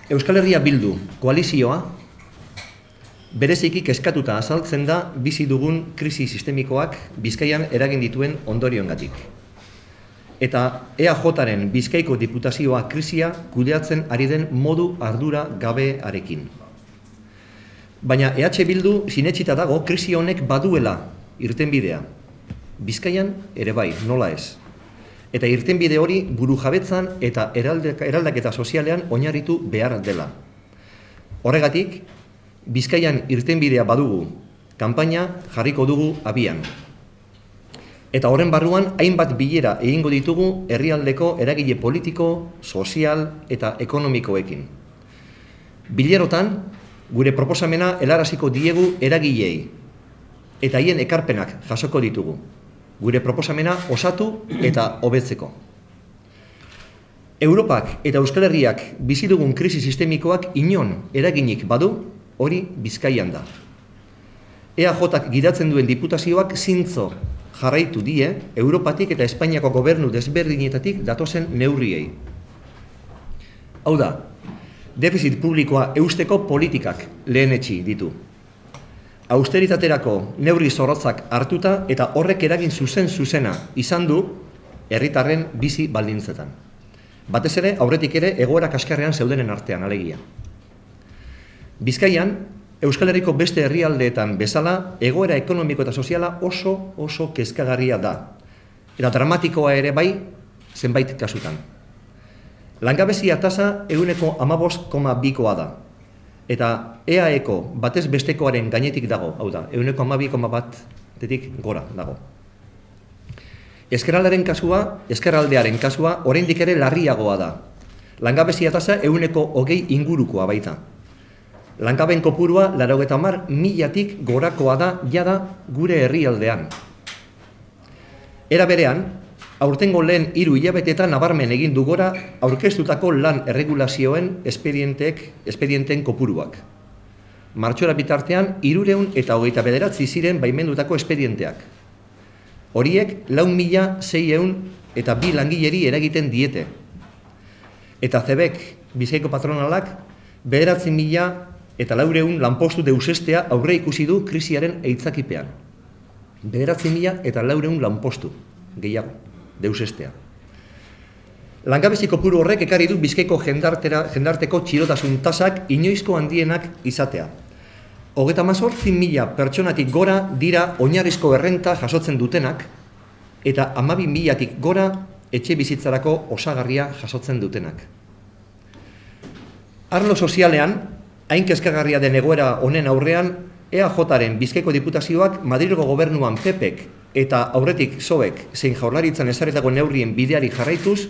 Euskal Herria Bildu koalizioa bereziki kezkatuta azaltzen da bizi dugun krisi sistemikoak Bizkaian eragin dituen ondorioengatik. Eta EAJaren Bizkaiko Diputazioa krisia kudeatzen ari den modu ardura gabearekin. Baina EH Bildu sinetsita dago krisi honek baduela irtenbidea. Bizkaian ere bai, nola ez. Eta irtenbide hori burujabetzan eta eraldaketa sozialean oinarritu behar dela. Horregatik, Bizkaian irtenbidea badugu, kanpaina jarriko dugu abian. Eta horren barruan, hainbat bilera egingo ditugu herrialdeko eragile politiko, sozial eta ekonomikoekin. Bilerotan, gure proposamena helaraziko diegu eragilei, eta haien ekarpenak jasoko ditugu. Gure proposamena osatu eta hobetzeko. Europak eta Euskal Herriak bizi dugun krisi sistemikoak inon eraginik badu, hori Bizkaian da. EAJak gidatzen duen diputazioak zintzo jarraitu die Europatik eta Espainiako gobernu desberdinetatik datozen neurriei. Hau da, defizit publikoa eusteko politikak lehenetsi ditu. Austeritaterako neurri zorrotzak hartuta eta horrek eragin zuzena izan du herritarren bizi baldintzetan. Batez ere, aurretik ere, egoera kaskarrean zeudenen artean, alegia. Bizkaian, Euskal Herriko beste herrialdeetan bezala, egoera ekonomiko eta soziala oso kezkagarria da. Eta dramatikoa ere bai, zenbait kasutan. Langabezia tasa 15,2koa da. Eta EAEko batez bestekoaren gainetik dago, hau da, 12,1-tik gora dago. Ezkerraldearen kasua, oraindik ere larriagoa da. Langabezia tasa 20 ingurukoa baita. Langabeen kopurua 80.000-tik gorakoa da jada gure herrialdean. Era berean, aurtengo lehen 3 hilabetetan nabarmen egin du gora aurkeztutako lan erregulazioen espedienteen kopuruak. Martxora bitartean 329 ziren baimendutako espedienteak. Horiek 4.602 langileri eragiten diete. Eta CEBek, Bizkaiko patronalak, 9.400 lanpostu deusestea aurre ikusi du krisiaren eitzakipean. 9.400 lanpostu gehiago deusestea. Langabezi kopuru horrek ekarri du Bizkaiko jendarteko txirotasun tasak inoizko handienak izatea. 38.000 pertsonatik gora dira oinarrizko errenta jasotzen dutenak eta 12.000-tik gora etxe bizitzarako osagarria jasotzen dutenak. Arlo sozialean, hain kezkagarria den egoera honen aurrean, EAJaren Bizkaiko Diputazioak Madrilgo gobernuan PPek eta aurretik PSOEk zein Jaurlaritzan ezarritako neurrien bideari jarraituz,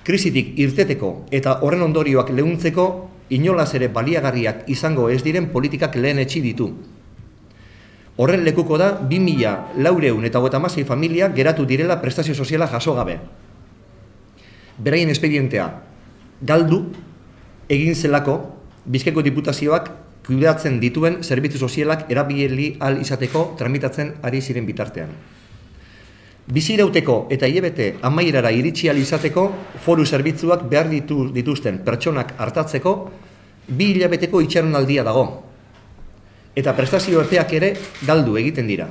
krisitik irteteko eta horren ondorioak leuntzeko inolaz ere baliagarriak izango ez diren politikak lehenetsi ditu. Horren lekuko da 2.456 familia geratu direla prestazio soziala jaso gabe. Beraien espedientea galdu egin zelako Bizkaiko Diputazioak kudeatzen dituen zerbitzu sozialak erabili ahal izateko tramitatzen ari ziren bitartean. Bizirauteko eta hilabete amaierara iritsi ahal izateko foru zerbitzuak behar dituzten pertsonak hartatzeko 2 hilabeteko itxaronaldia dago. Eta prestazio epeak ere galdu egiten dira.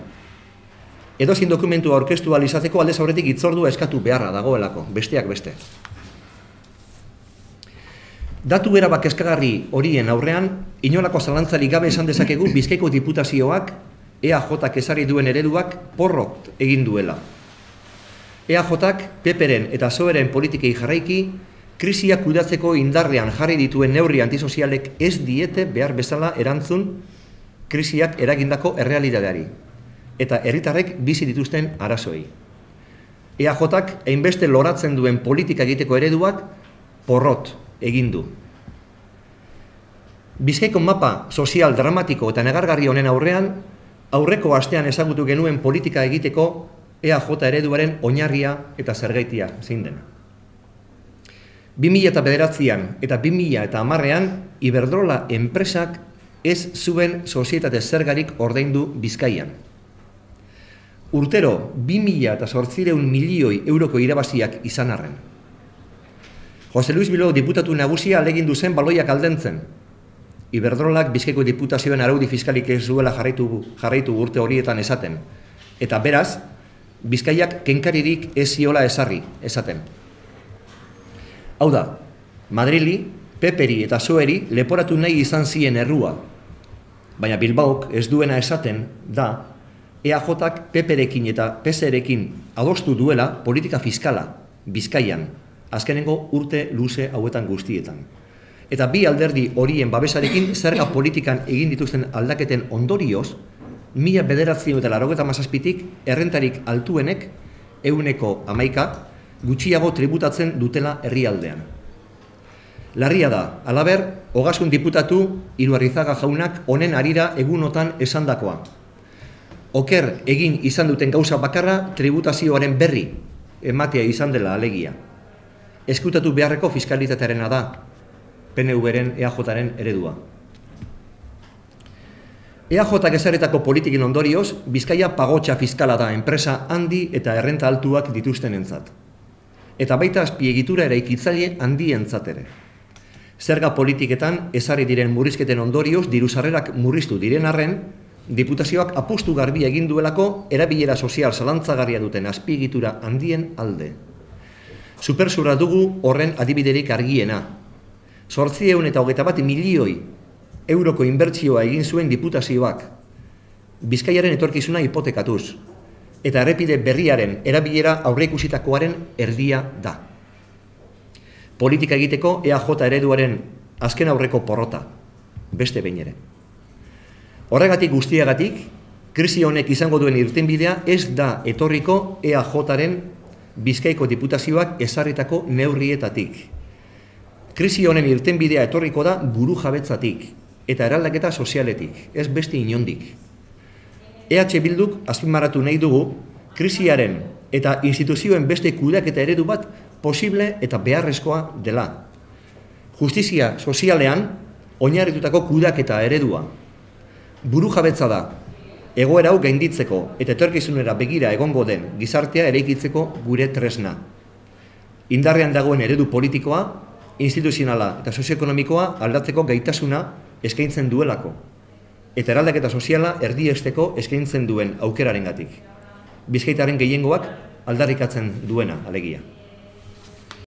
Edozein dokumentua aurkeztu ahal izateko aldez aurretik hitzordua eskatu beharra dagoelako, besteak beste. Datu erabak kezkagarri horien aurrean, inolako zalantzarik gabe esan dezakegu Bizkaiko Diputazioak EAJak ezarri duen ereduak porrot egin duela. EAJak PPren eta PSOEren politikei jarraiki, krisia kudeatzeko indarrean jarri dituen neurri antisozialek ez diete behar bezala erantzun krisiak eragindako errealitateari eta herritarrek bizi dituzten arazoei. EAJak hainbeste loratzen duen politika egiteko ereduak porrot egin du. Bizkaiko mapa sozial dramatiko eta negargarri honen aurrean, aurreko astean ezagutu genuen politika egiteko EAJ ereduaren oinarria eta zergaitia zein dena. 2009an eta 2010an Iberdrola enpresak ez zuen sozietate zergarik ordaindu Bizkaian. Urtero 2.800 milioi euroko irabaziak izan arren. Jose Luis Bilbao diputatu nagusia alegin zen baloiak aldentzen. Iberdrolak Bizkaiko diputazioen araudi fiskalik ez duela jarraitu urte horietan esaten. Eta beraz, Bizkaiak kenkaririk ez ziola esaten. Hau da, Madrili, Peperi eta Soeri leporatu nahi izan zien errua. Baina Bilbaok ez duena esaten da, EAJak Peperekin eta PSerekin adostu duela politika fiskala Bizkaian, azkenengo urte luze hauetan guztietan. Eta bi alderdi horien babesarekin zerga politikan egin dituzten aldaketen ondorioz, 1997tik errentarik altuenek 111 gutxiago tributatzen dutela herrialdean. Larria da, halaber, Ogasun diputatu Iruarrizaga jaunak honen harira egunotan esandakoa. Oker egin izan duten gauza bakarra tributazioaren berri ematea izan dela alegia. Eskutatu beharreko fiskalitatearena da, PNV-ren EAJ-ren eredua. EAJak ezarritako politikin ondorioz, Bizkaia pagotxa fiskala da enpresa handi eta errenta altuak dituztenentzat. Eta baita azpiegitura eraikitzaile handientzat ere. Zerga politiketan ezarri diren murrizketen ondorioz dirusarrerak murriztu diren arren, diputazioak apustu garbi egin duelako erabilera sozial zalantzagarria duten azpiegitura handien alde. Supersurra dugu horren adibiderik argiena. 821 milioi euroko inbertsioa egin zuen diputazioak, Bizkaiaren etorkizuna hipotekatuz, eta errepide berriaren erabilera aurreikusitakoaren erdia da. Politika egiteko EAJ ereduaren azken aurreko porrota, beste behin ere. Horregatik guztiagatik, krisi honek izango duen irtenbidea ez da etorriko EAJaren Bizkaiko diputazioak ezarritako neurrietatik. Krisi honen irtenbidea etorriko da buru jabetzatik eta eraldaketa sozialetik, ez beste inondik. EH Bilduk azpimarratu nahi dugu krisiaren eta instituzioen beste kudeaketa eredu bat posible eta beharrezkoa dela. Justizia sozialean oinarritutako kudeaketa eredua. Buru jabetza da, egoera hau gainditzeko eta etorkizunera begira egongo den gizartea eraikitzeko gure tresna. Indarrean dagoen eredu politikoa, instituzionala eta sozioekonomikoa aldatzeko gaitasuna eskaintzen duelako, eta eraldaketa soziala erdiesteko eskaintzen duen aukerarengatik. Bizkaitaren gehiengoak aldarrikatzen duena, alegia.